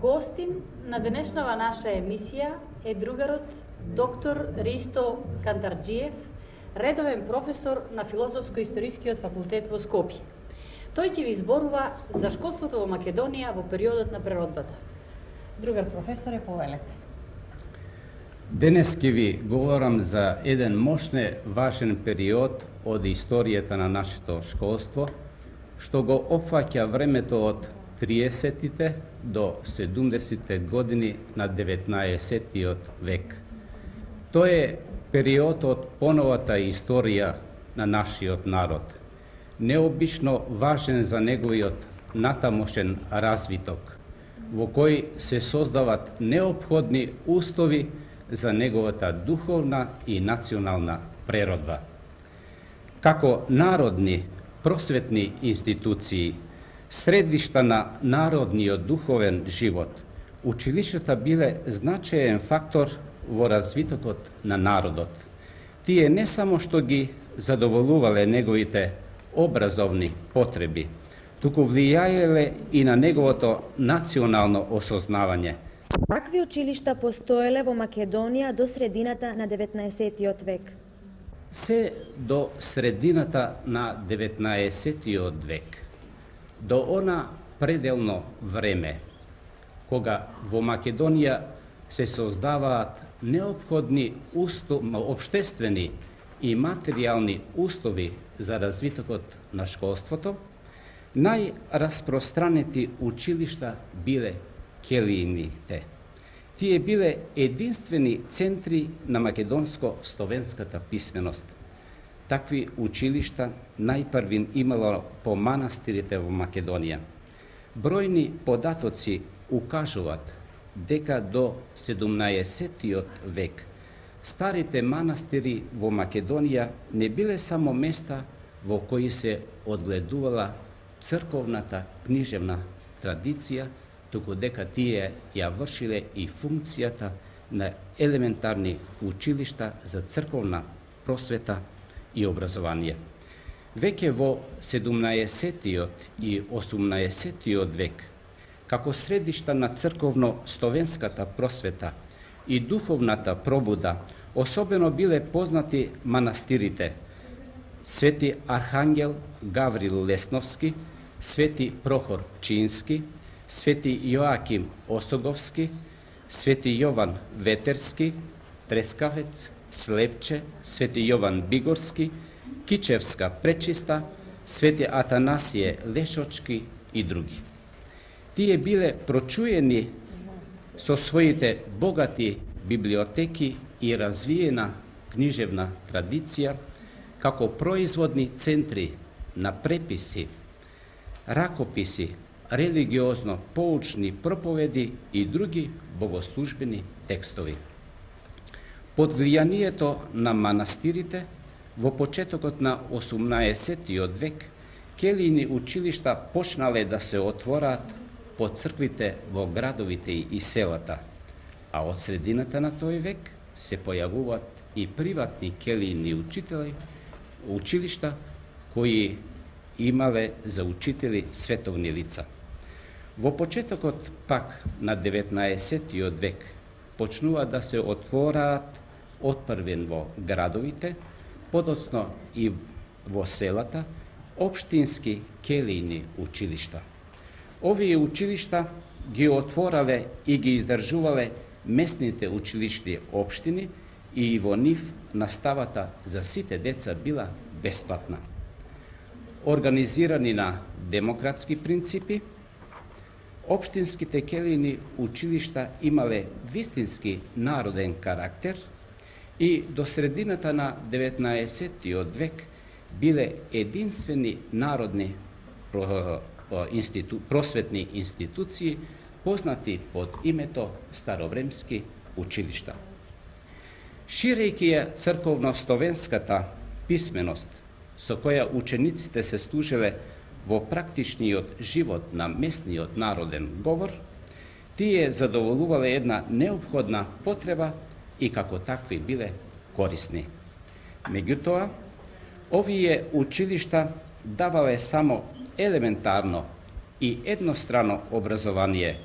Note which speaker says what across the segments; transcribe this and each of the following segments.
Speaker 1: Гостин на денешнава наша емисија е другарот доктор Ристо Кантарджиев, редовен професор на Филозофско-историскиот факултет во Скопје. Тој ќе ви зборува за школството во Македонија во периодот на преродбата. Другар професоре, повелете.
Speaker 2: Денес ќе ви говорам за еден мощне важен период од историјата на нашето школство, што го опфаќа времето од 30-тите до 70-те години на 19-тиот век. Тој е период од поновата историја на нашиот народ, необично важен за неговиот натамошен развиток, во кој се создават неопходни услови за неговата духовна и национална преродба. Како народни просветни институции, средишта на народниот духовен живот, училиштата биле значаен фактор во развитокот на народот. Тие не само што ги задоволувале неговите образовни потреби, туку влијаеле и на неговото национално осознавање.
Speaker 3: Какви училишта постоеле во Македонија до средината на 19-тиот век?
Speaker 2: Се до средината на 19-тиот век, до она пределно време, кога во Македонија се создаваат неопходни општествени и материјални услови за развитокот на школството, најраспространети училишта биле келиините. Тие биле единствени центри на македонско-словенската писменост. Такви училишта најпрвин имало по манастирите во Македонија. Бројни податоци укажуваат дека до 17-тиот век старите манастири во Македонија не биле само места во кои се одгледувала црковната книжевна традиција, туку дека тие ја вршиле и функцијата на елементарни училишта за црковна просвета и образование. Веќе во 17-тиот и 18-тиот век, како средишта на црковно-словенската просвета и духовната пробуда, особено биле познати манастирите Свети Архангел Гаврил Лесновски, Свети Прохор Пчински, Свети Јоаким Осоговски, Свети Јован Ветерски, Трескавец, Слепче, Свети Јован Бигорски, Кичевска Пречиста, Свети Атанасије Лешочки и други. Тие биле прочуени со своите богати библиотеки и развиена книжевна традиција, како производни центри на преписи, ракописи, религиозно поучни проповеди и други богослужбени текстови. Под влијанието на манастирите, во почетокот на 18-тиот век, келиини училишта почнале да се отвораат по црквите во градовите и селата, а од средината на тој век се појавуваат и приватни келиини училишта кои имале за учители световни лица. Во почетокот пак на 19-тиот век почнува да се отвораат отпрвен во градовите, подоцно и во селата, општински келиини училишта. Овие училишта ги отворале и ги издржувале местните училишни општини и во нив наставата за сите деца била бесплатна. Организирани на демократски принципи, општинските келиини училишта имале вистински народен карактер и до средината на 19-тиот век биле единствени народни просветни институции, познати под името старовремски училишта. Ширејќи ја црковно-словенската писменост, со која учениците се служеле во практичниот живот на местниот народен говор, тие задоволувале една неопходна потреба и како такви биле корисни. Меѓутоа, овие училишта давале само елементарно и еднострано образование,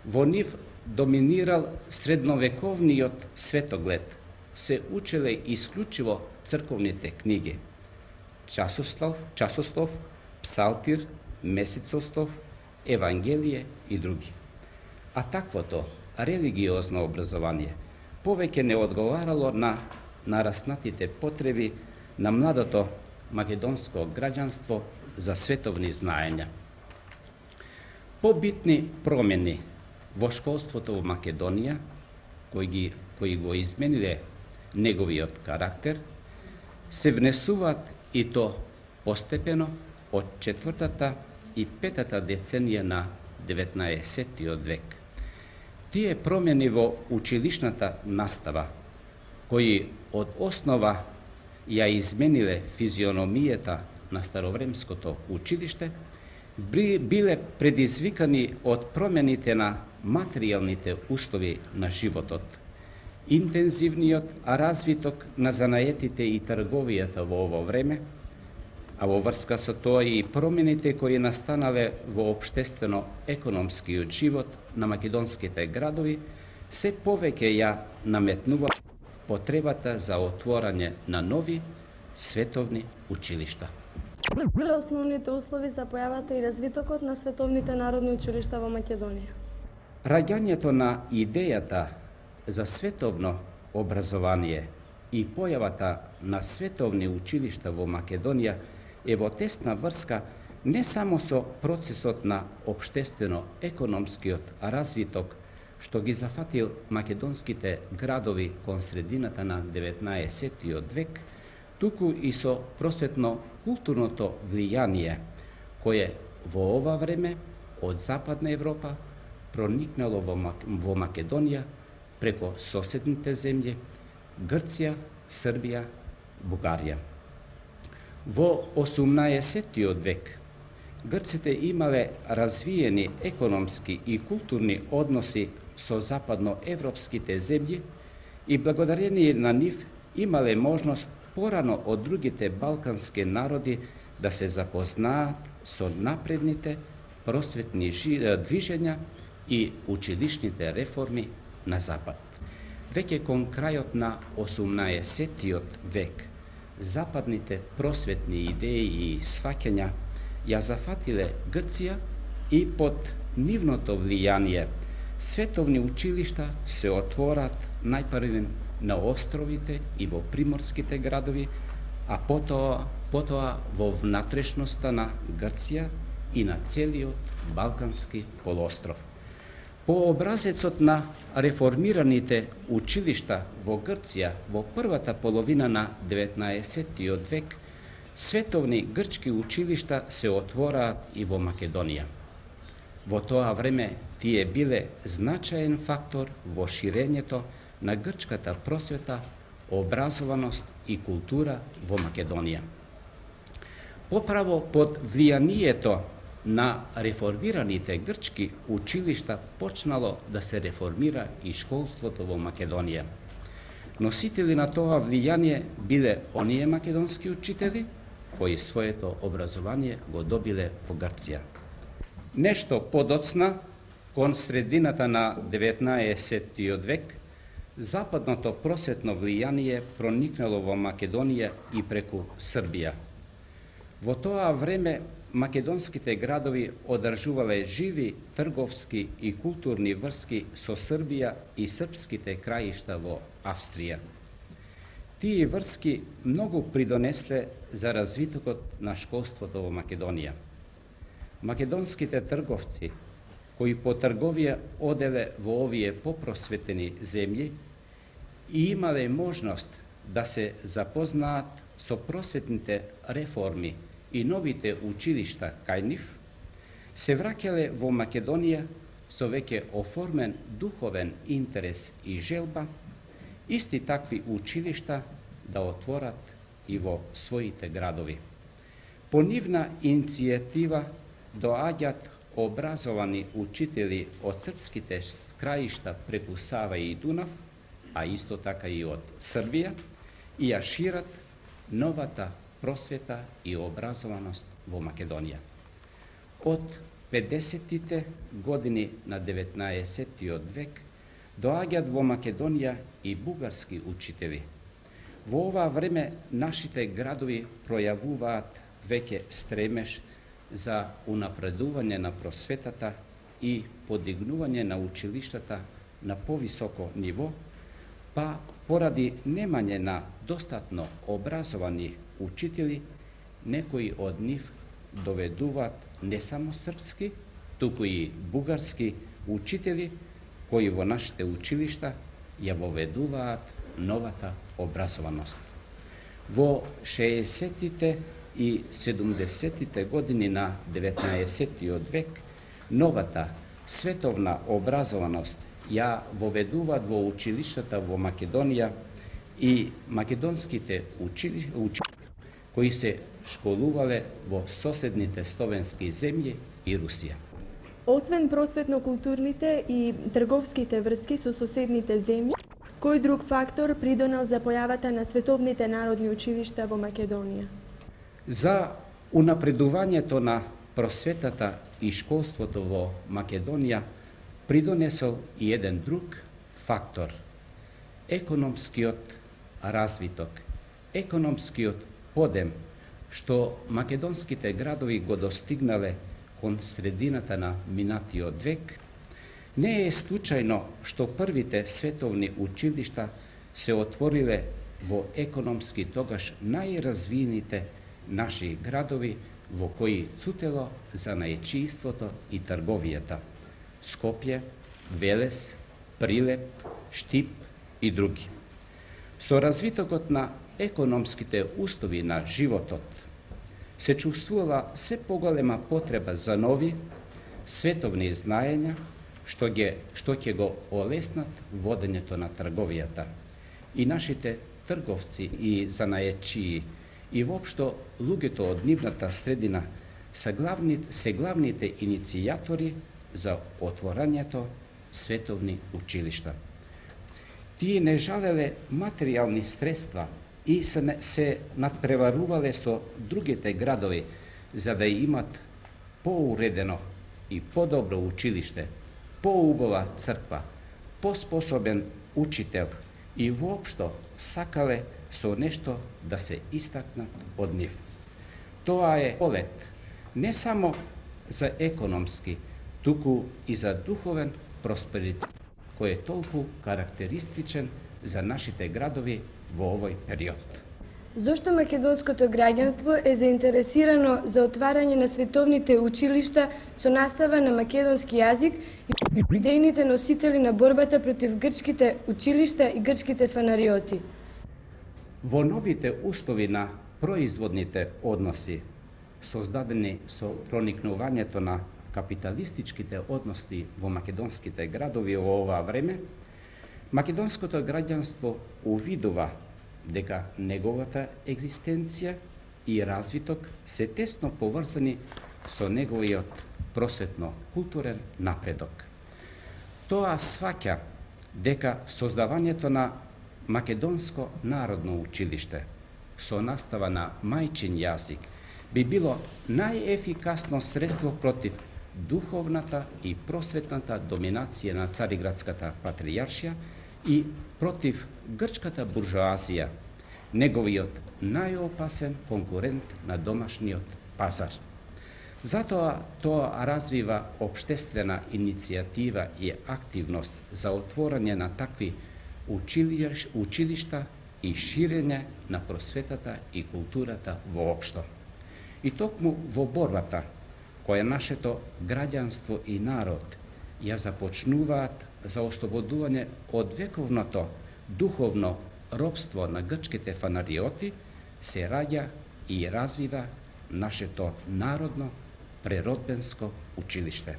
Speaker 2: Во нив доминирал средновековниот светоглед, се учеле исклучиво црковните книги, часослов, псалтир, месецослов, евангелие и други. А таквото религиозно образование повеќе не одговарало на нараснатите потреби на младото македонско граѓанство за световни знаења. Побитни промени во школството во Македонија, кои го измениле неговиот карактер, се внесуваат и то постепено од 4-та и 5-та деценија на 19-тиот век. Тие промени во училишната настава, кои од основа ја измениле физиономијата на старовремското училиште, биле предизвикани од промените на материјалните услови на животот, интензивниот развиток на занаетите и трговијата во ово време, а во врска со тоа и промените кои настанале во општествено-економскиот живот на македонските градови, се повеќе ја наметнува потребата за отворање на нови световни училишта.
Speaker 4: Основните услови за појавата и развитокот на световните народни училишта во Македонија.
Speaker 2: Раѓањето на идејата за световно образование и појавата на световни училишта во Македонија е во тесна врска не само со процесот на општествено-економскиот развиток, што ги зафатил македонските градови кон средината на 19-тиот век, туку и со просветно-културното влијание, кое во ова време од Западна Европа проникнало во Македонија преко соседните земји Грција, Србија, Бугарија. Во 18-тиот век грците имале развиени економски и културни односи со западноевропските земји и благодарение на нив имале можност порано од другите балкански народи да се запознаат со напредните просветни движења и училишните реформи на Запад. Веќе кон крајот на 18-тиот век, западните просветни идеи и сваќања ја зафатиле Грција и под нивното влијание световни училишта се отворат најпрвен на островите и во приморските градови, а потоа во внатрешноста на Грција и на целиот Балкански полуостров. По образецот на реформираните училишта во Грција во првата половина на 19-тиот век, световни грчки училишта се отвораат и во Македонија. Во тоа време тие биле значаен фактор во ширењето на грчката просвета, образованост и култура во Македонија. Поправо под влијанието на реформираните грчки училишта почнало да се реформира и школството во Македонија. Носители на тоа влијание биле оние македонски учители кои своето образование го добиле во Грција. Нешто подоцна, кон средината на 19-тиот век, западното просветно влијание проникнало во Македонија и преку Србија. Во тоа време македонските градови одржувале живи трговски и културни врски со Србија и српските краишта во Австрија. Тие врски многу придонесле за развитокот на школството во Македонија. Македонските трговци, кои по трговија оделе во овие попросветени земји и имале можност да се запознаат со просветните реформи и новите училишта кај нив, се враќале во Македонија со веќе оформен духовен интерес и желба, исти такви училишта да отворат и во своите градови. По нивна иницијатива доаѓаат образовани учители од српските краишта преку Сава и Дунав, а исто така и од Србија, и ја шират новата просвета и образованост во Македонија. Од 50-тите години на 19-тиот век доаѓаат во Македонија и бугарски учители. Во ова време нашите градови пројавуваат веќе стремеж за унапредување на просветата и подигнување на училиштата на повисоко ниво, па поради немање на достатно образовани учители, некои од нив доведуваат не само српски, туку и бугарски учители, кои во нашите училишта ја воведуваат новата образованост. Во 60-тите и 70-тите години на 19-тиот век, новата световна образованост ја воведуваат во училиштата во Македонија и македонските учители кои се школувале во соседните словенски земји и Русија.
Speaker 4: Освен просветно-културните и трговските врски со соседните земји, кој друг фактор придонел за појавата на световните народни училишта во Македонија?
Speaker 2: За унапредувањето на просветата и школството во Македонија придонесол и еден друг фактор – економскиот развиток, економскиот подем што македонските градови го достигнале кон средината на минатиот век. Не е случајно што првите световни училишта се отвориле во економски тогаш најразвиените наши градови во кои цутело занаечиството и трговијата – Скопје, Велес, Прилеп, Штип и други. Со развитокот на економските услови на животот се чувствувала се поголема потреба за нови световни знаења што ќе го олеснат водењето на трговијата. И нашите трговци и занаечии и воопшто луѓето од нивната средина се главните иницијатори за отворањето световни училишта. Тие не жалеле материјални средства и се надпреварувале со другите градови за да имат поуредено и подобро училиште, поубава црква, поспособен учител и воопшто сакале со нешто да се истакнат од нив. Тоа е полет не само за економски, туку и за духовен просперитет, кој е толку карактеристичен за нашите градови во овој период.
Speaker 4: Зошто македонското граѓанство е заинтересирано за отварање на световните училишта со настава на македонски јазик и идејните носители на борбата против грчките училишта и грчките фанариоти?
Speaker 2: Во новите услови на производните односи, создадени со проникнувањето на капиталистичките односи во македонските градови во ова време, македонското граѓанство увидува дека неговата екзистенција и развиток се тесно поврзани со неговиот просветно-културен напредок. Тоа сваќа дека создавањето на Македонско народно училиште со настава на мајчин јазик би било најефикасно средство против духовната и просветната доминација на Цариградската патријаршија и против грчката буржоазија, неговиот најопасен конкурент на домашниот пазар. Затоа тоа развива општествена иницијатива и активност за отворање на такви училишта и ширење на просветата и културата воопшто. И токму во борбата која нашето граѓанство и народ ја започнуваат за ослободување од вековното духовно робство на грчките фанариоти, се раѓа и развива нашето народно преродбенско училиште.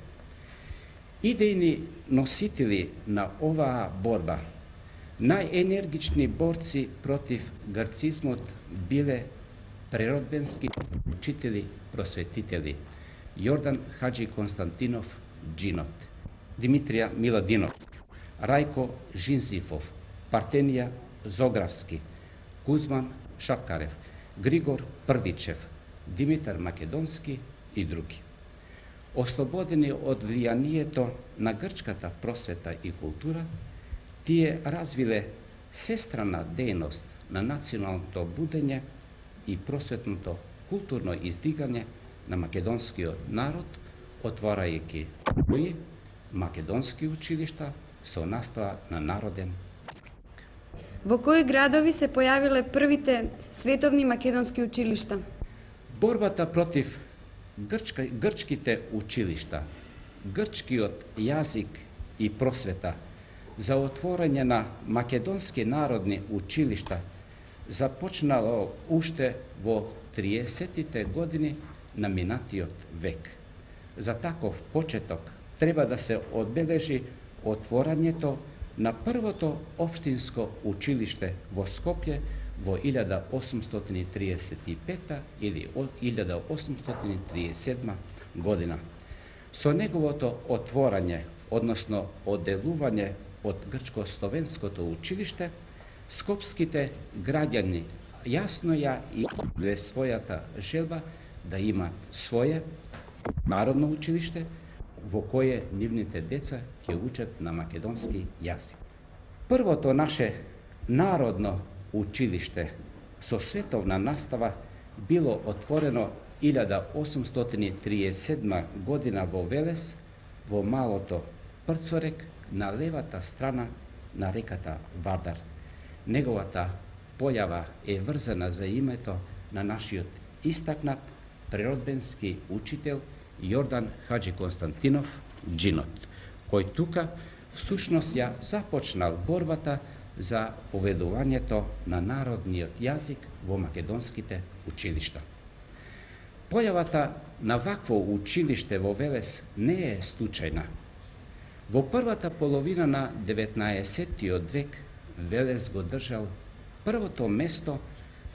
Speaker 2: Идејни носители на оваа борба, најенергични борци против грцизмот биле преродбенски учители, просветители Јордан Хаджи Константинов Джинот, Димитрија Миладинов, Рајко Жинзифов, Партенија Зографски, Кузман Шапкарев, Григор Прдичев, Димитар Македонски и други. Ослободени од влијанието на грчката просвета и култура, тие развиле сестрана дејност на националното будење и просветното културно издигање на македонскиот народ, отварајќи македонски училишта со настава на народен.
Speaker 5: Во кои градови се појавиле првите световни македонски училишта?
Speaker 2: Борбата против грчките училишта, грчкиот јазик и просвета, за отворање на македонски народни училишта започнало уште во 30-тите години на минатиот век. За таков почеток треба да се одбележи отворањето на првото општинско училиште во Скопје во 1835 или 1837 година. Со неговото отворање, односно одделување од грчко-словенското училиште, скопските граѓани јасно ја изјавиле својата желба да имат свое народно училиште во кое нивните деца ќе учат на македонски јазик. Првото наше народно училиште со световна настава било отворено 1837 година во Велес, во малото Прцорек, на левата страна на реката Вардар. Неговата појава е врзана за името на нашиот истакнат природбенски учител Јордан Хаджи Константинов Джинот, кој тука всушност ја започнал борбата за поведувањето на народниот јазик во македонските училишта. Појавата на вакво училиште во Велес не е случајна. Во првата половина на 19-тиот век Велес го држал првото место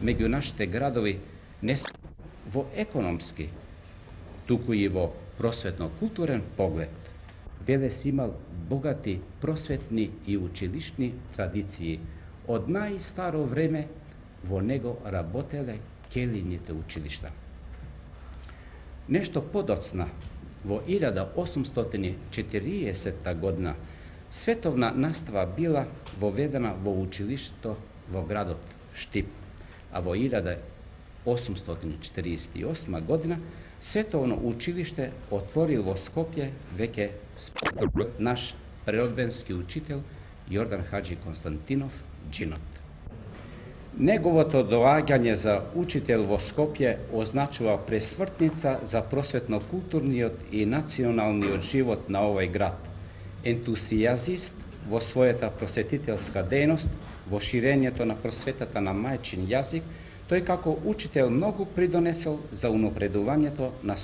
Speaker 2: меѓу нашите градови не само во економски, туку и во просветно-културен поглед. Велес имал богати просветни и училишни традиции. Од најстаро време во него работеле келините училишта. Нешто подоцна, во 1840 година, световна настава била воведена во училиштето во градот Штип, а во 1848 година световно училиште отворил во Скопје веќе наш природбенски учител Јордан Хаджи Константинов Джинот. Неговото доаѓање за учител во Скопје означува пресвртница за просветно-културниот и националниот живот на овој град. Ентусијазист во својата просветителска дејност, во ширењето на просветата на мајчин јазик, тој како учител многу придонесел за унапредувањето на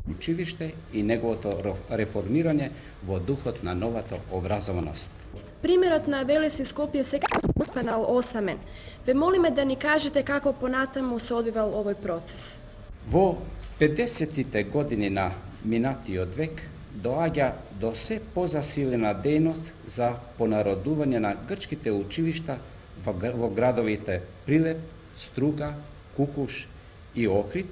Speaker 2: училиште и неговото реформирање во духот на новата образованост.
Speaker 6: Примерот на Велес и Скопје сега споменал осамен. Ве молиме да ни кажете како понатаму се одвивал овој процес.
Speaker 2: Во 50-тите години на минатиот век доаѓа до се позасилена дејност за понародување на грчките училишта во градовите Прилеп, Струга, Кукуш и Охрид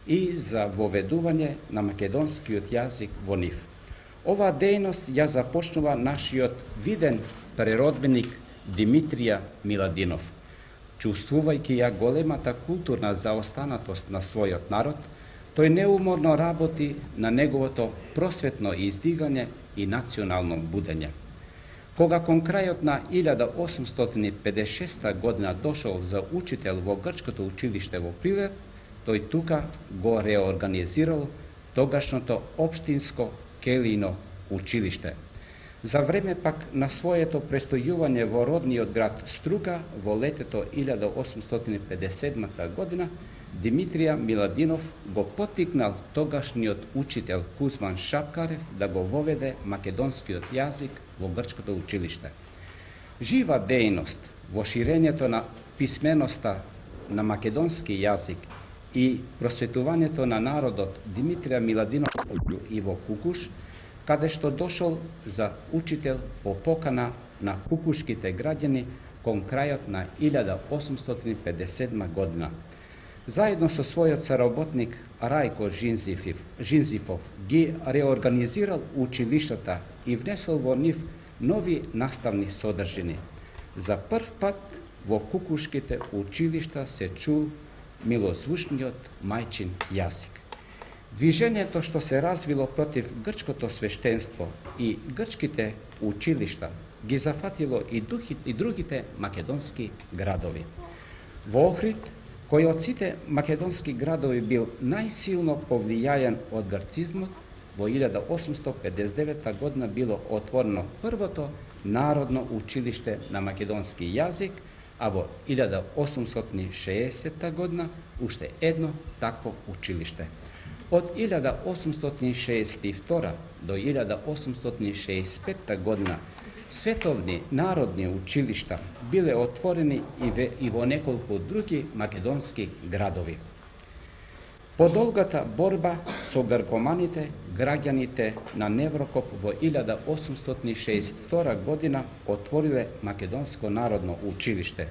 Speaker 2: и за воведување на македонскиот јазик во нив. Оваа дејност ја започнува нашиот виден преродбеник Димитрија Миладинов. Чувствувајќи ја големата културна заостанатост на својот народ, тој неуморно работи на неговото просветно издигање и национално будење. Кога кон крајот на 1856 година дошол за учител во грчкото училиште во Прилеп, тој тука го реорганизирал тогашното општинско келино училиште. За време пак на своето престојување во родниот град Струга во летето 1857 година, Димитрија Миладинов го поттикнал тогашниот учител Кузман Шапкарев да го воведе македонскиот јазик во грчкото училиште. Жива дејност во ширењето на писменоста на македонски јазик и просветувањето на народот Димитрија Миладинов и во Кукуш, каде што дошол за учител по покана на кукушките граѓани кон крајот на 1857 година. Заедно со својот соработник Рајко Жинзифов ги реорганизирал училиштата и внесол во нив нови наставни содржини. За прв пат во кукушките училишта се чул милозвучниот мајчин јазик. Движењето што се развило против грчкото свештенство и грчките училишта ги зафатило и другите македонски градови. Во Охрид, кој од сите македонски градови бил најсилно повлијаен од грцизмот, во 1859 година било отворено првото народно училиште на македонски јазик, а во 1860 година уште едно такво училиште. Од 1862 до 1865 година световни народни училишта биле отворени и во неколку други македонски градови. По долгата борба со гркоманите, граѓаните на Неврокоп во 1862 година отвориле Македонско народно училиште.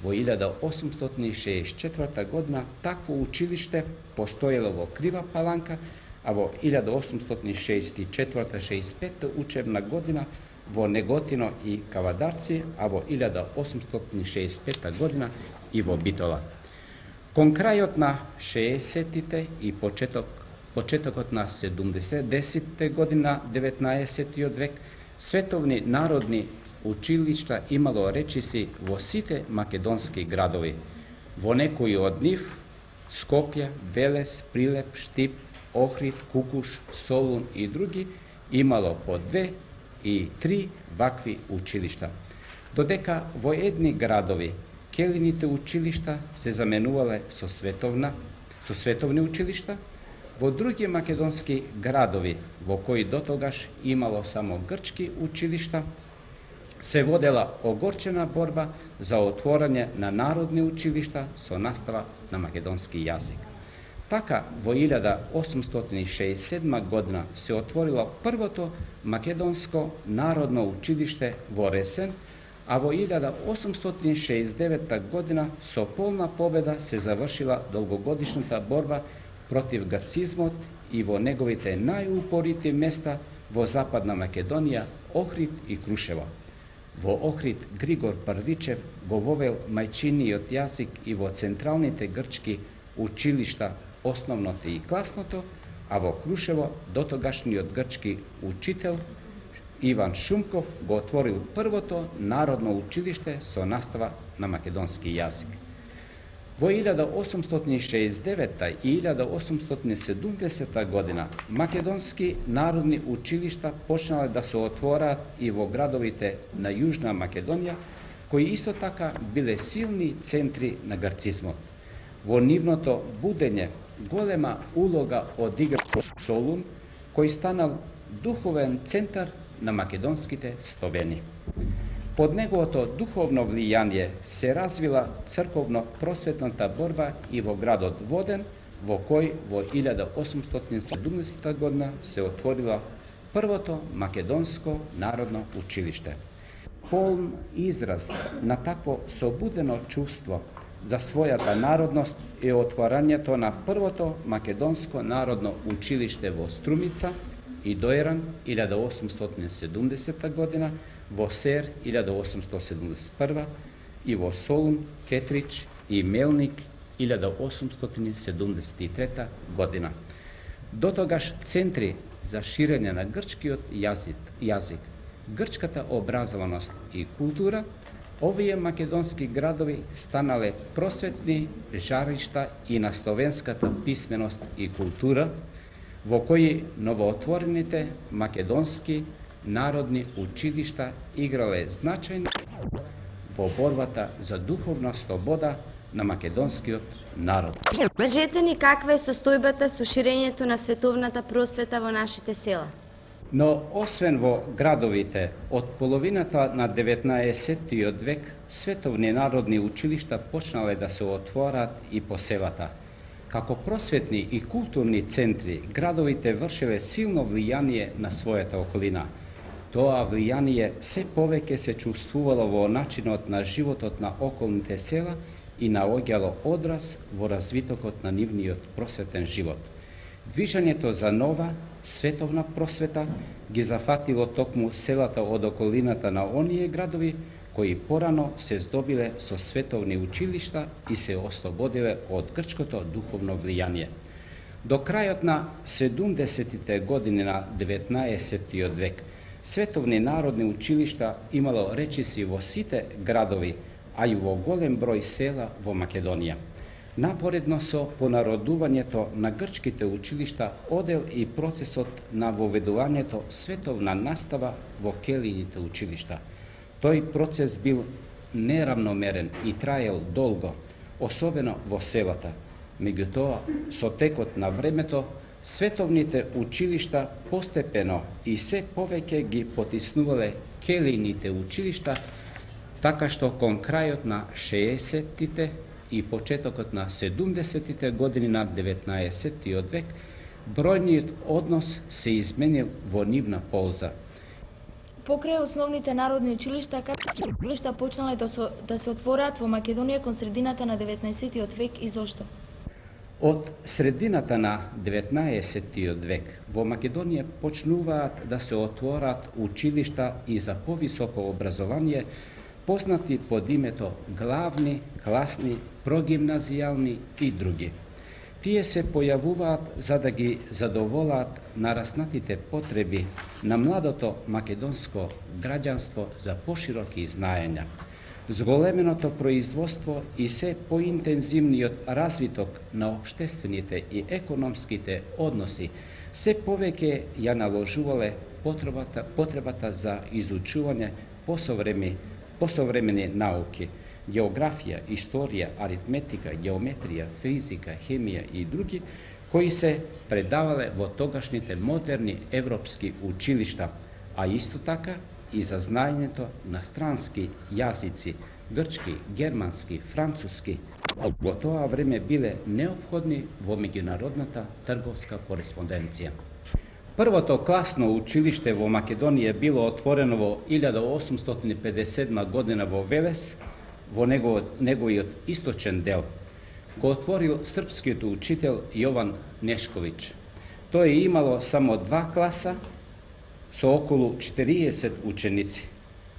Speaker 2: Во 1864 година такво училиште постоело во Крива Паланка, а во 1864-65 учебна година во Неготино и Кавадарци, а во 1865 година и во Битола. Кон крајот на 60-тите и почетокот на 70-те година 19 век, световни народни училишта имало речиси во сите македонски градови. Во некои од нив, Скопје, Велес, Прилеп, Штип, Охрид, Кукуш, Солун и други, имало по 2 и 3 вакви училишта. Додека во едни градови келините училишта се заменувале со световни училишта, во други македонски градови, во кои дотогаш имало само грчки училишта, се водела огорчена борба за отворање на народни училишта со настава на македонски јазик. Така, во 1867 година се отворило првото македонско народно училиште во Ресен, а во 1869 година со полна победа се завршила долгогодишната борба против грцизмот и во неговите најупорити места во Западна Македонија, Охрид и Крушево. Во Охрид Григор Првичев го вовел мајчиниот јазик и во централните грчки училишта, основното и класното, а во Крушево дотогашниот грчки учител Иван Шумков го отворил првото народно училиште со настава на македонски јазик. Во 1869 и 1870 година македонски народни училишта почнале да се отвораат и во градовите на Јужна Македонија, кои исто така биле силни центри на грцизмот. Во нивното будење голема улога одигра Солун, кој станал духовен центар на македонските словени. Под неговото духовно влијание се развила црковно-просветната борба и во градот Воден, во кој во 1870 година се отворила првото македонско народно училиште. Полн израз на такво собудено чувство за својата народност е отворањето на првото македонско народно училиште во Струмица и Дојран 1870 година, во Сер 1871 и во Солун, Кетрич и Мелник 1873 година. Дотогаш центри за ширење на грчкиот јазик, грчката образованост и култура, овие македонски градови станале просветни жаришта и на словенската писменост и култура, во кои новоотворените македонски народни училишта играле значајна во борбата за духовна слобода на македонскиот народ.
Speaker 7: Кажете ни каква е состојбата со ширењето на световната просвета во нашите села?
Speaker 2: Но освен во градовите, од половината на 19 век световни народни училишта почнале да се отвораат и по селата. Како просветни и културни центри, градовите вршеле силно влијание на својата околина. Тоа влијание се повеќе се чувствувало во начинот на животот на околните села и наоѓало одраз во развитокот на нивниот просветен живот. Движењето за нова, световна просвета ги зафатило токму селата од околината на оние градови кои порано се здобиле со световни училишта и се ослободиле од грчкото духовно влијание. До крајот на 70-тите години на 19 век, световни народни училишта имало речиси во сите градови, а и во голем број села во Македонија. Напоредно со понародувањето на грчките училишта одел и процесот на воведувањето световна настава во келините училишта. Тој процес бил неравномерен и траел долго, особено во селата. Меѓутоа, со текот на времето, световните училишта постепено и се повеќе ги потиснувале келините училишта, така што кон крајот на 60-тите и почетокот на 70-тите години на 19 век, бројниот однос се изменил во нивна полза.
Speaker 8: Покрај основните народни училишта, какви училишта почнале да се отворат во Македонија кон средината на 19 век и зошто?
Speaker 2: Од средината на 19 век во Македонија почнуваат да се отворат училишта и за повисоко образование, познати под името главни, класни, прогимназијални и други. Тие се појавуваат за да ги задоволат нараснатите потреби на младото македонско граѓанство за пошироки знаења. Зголеменото производство и се поинтензивниот развиток на општествените и економските односи се повеќе ја наложувале потребата за изучување посовремени науки, географија, историја, аритметика, геометрија, физика, хемија и други, кои се предавале во тогашните модерни европски училишта, а исто така и за знаењето на странски јазици, грчки, германски, француски, во тоа време биле неопходни во меѓународната трговска кореспонденција. Првото класно училиште во Македонија било отворено во 1857 година во Велес, во неговиот источен дел. Го отворил српскиот учител Јован Нешковиќ. Тој имало само 2 класа со околу 40 ученици.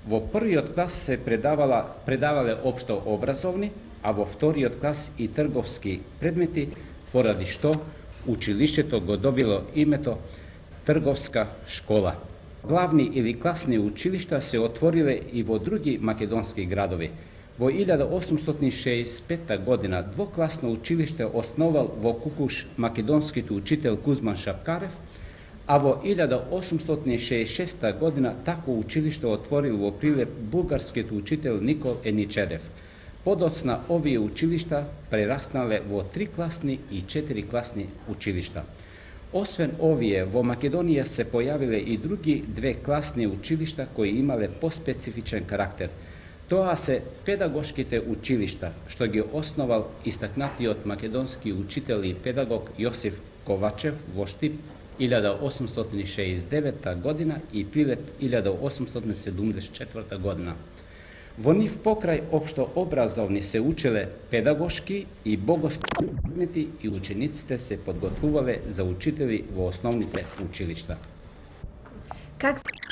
Speaker 2: Во првиот клас се предавале општо образовни, а во вториот клас и трговски предмети, поради што училиштето го добило името Трговска школа. Главни или класни училишта се отвориле и во други македонски градови. Во 1865 година двокласно училиште основал во Кукуш македонскиот учител Кузман Шапкарев, а во 1866 година тако училиште отворил во Прилеп бугарскиот учител Никол Еничерев. Подоцна овие училишта прераснале во 3-класни и 4-класни училишта. Освен овие, во Македонија се појавиле и други 2-класни училишта кои имале поспецифичен карактер. Тоа се педагошките училишта, што ги основал истакнатиот македонски учител и педагог Јосиф Ковачев во Штип 1869 година и Прилеп 1874 година. Во нив покрај општо образовни се учеле педагошки и богословски предмети и учениците се подготвувале за учители во основните училишта.
Speaker 8: Какви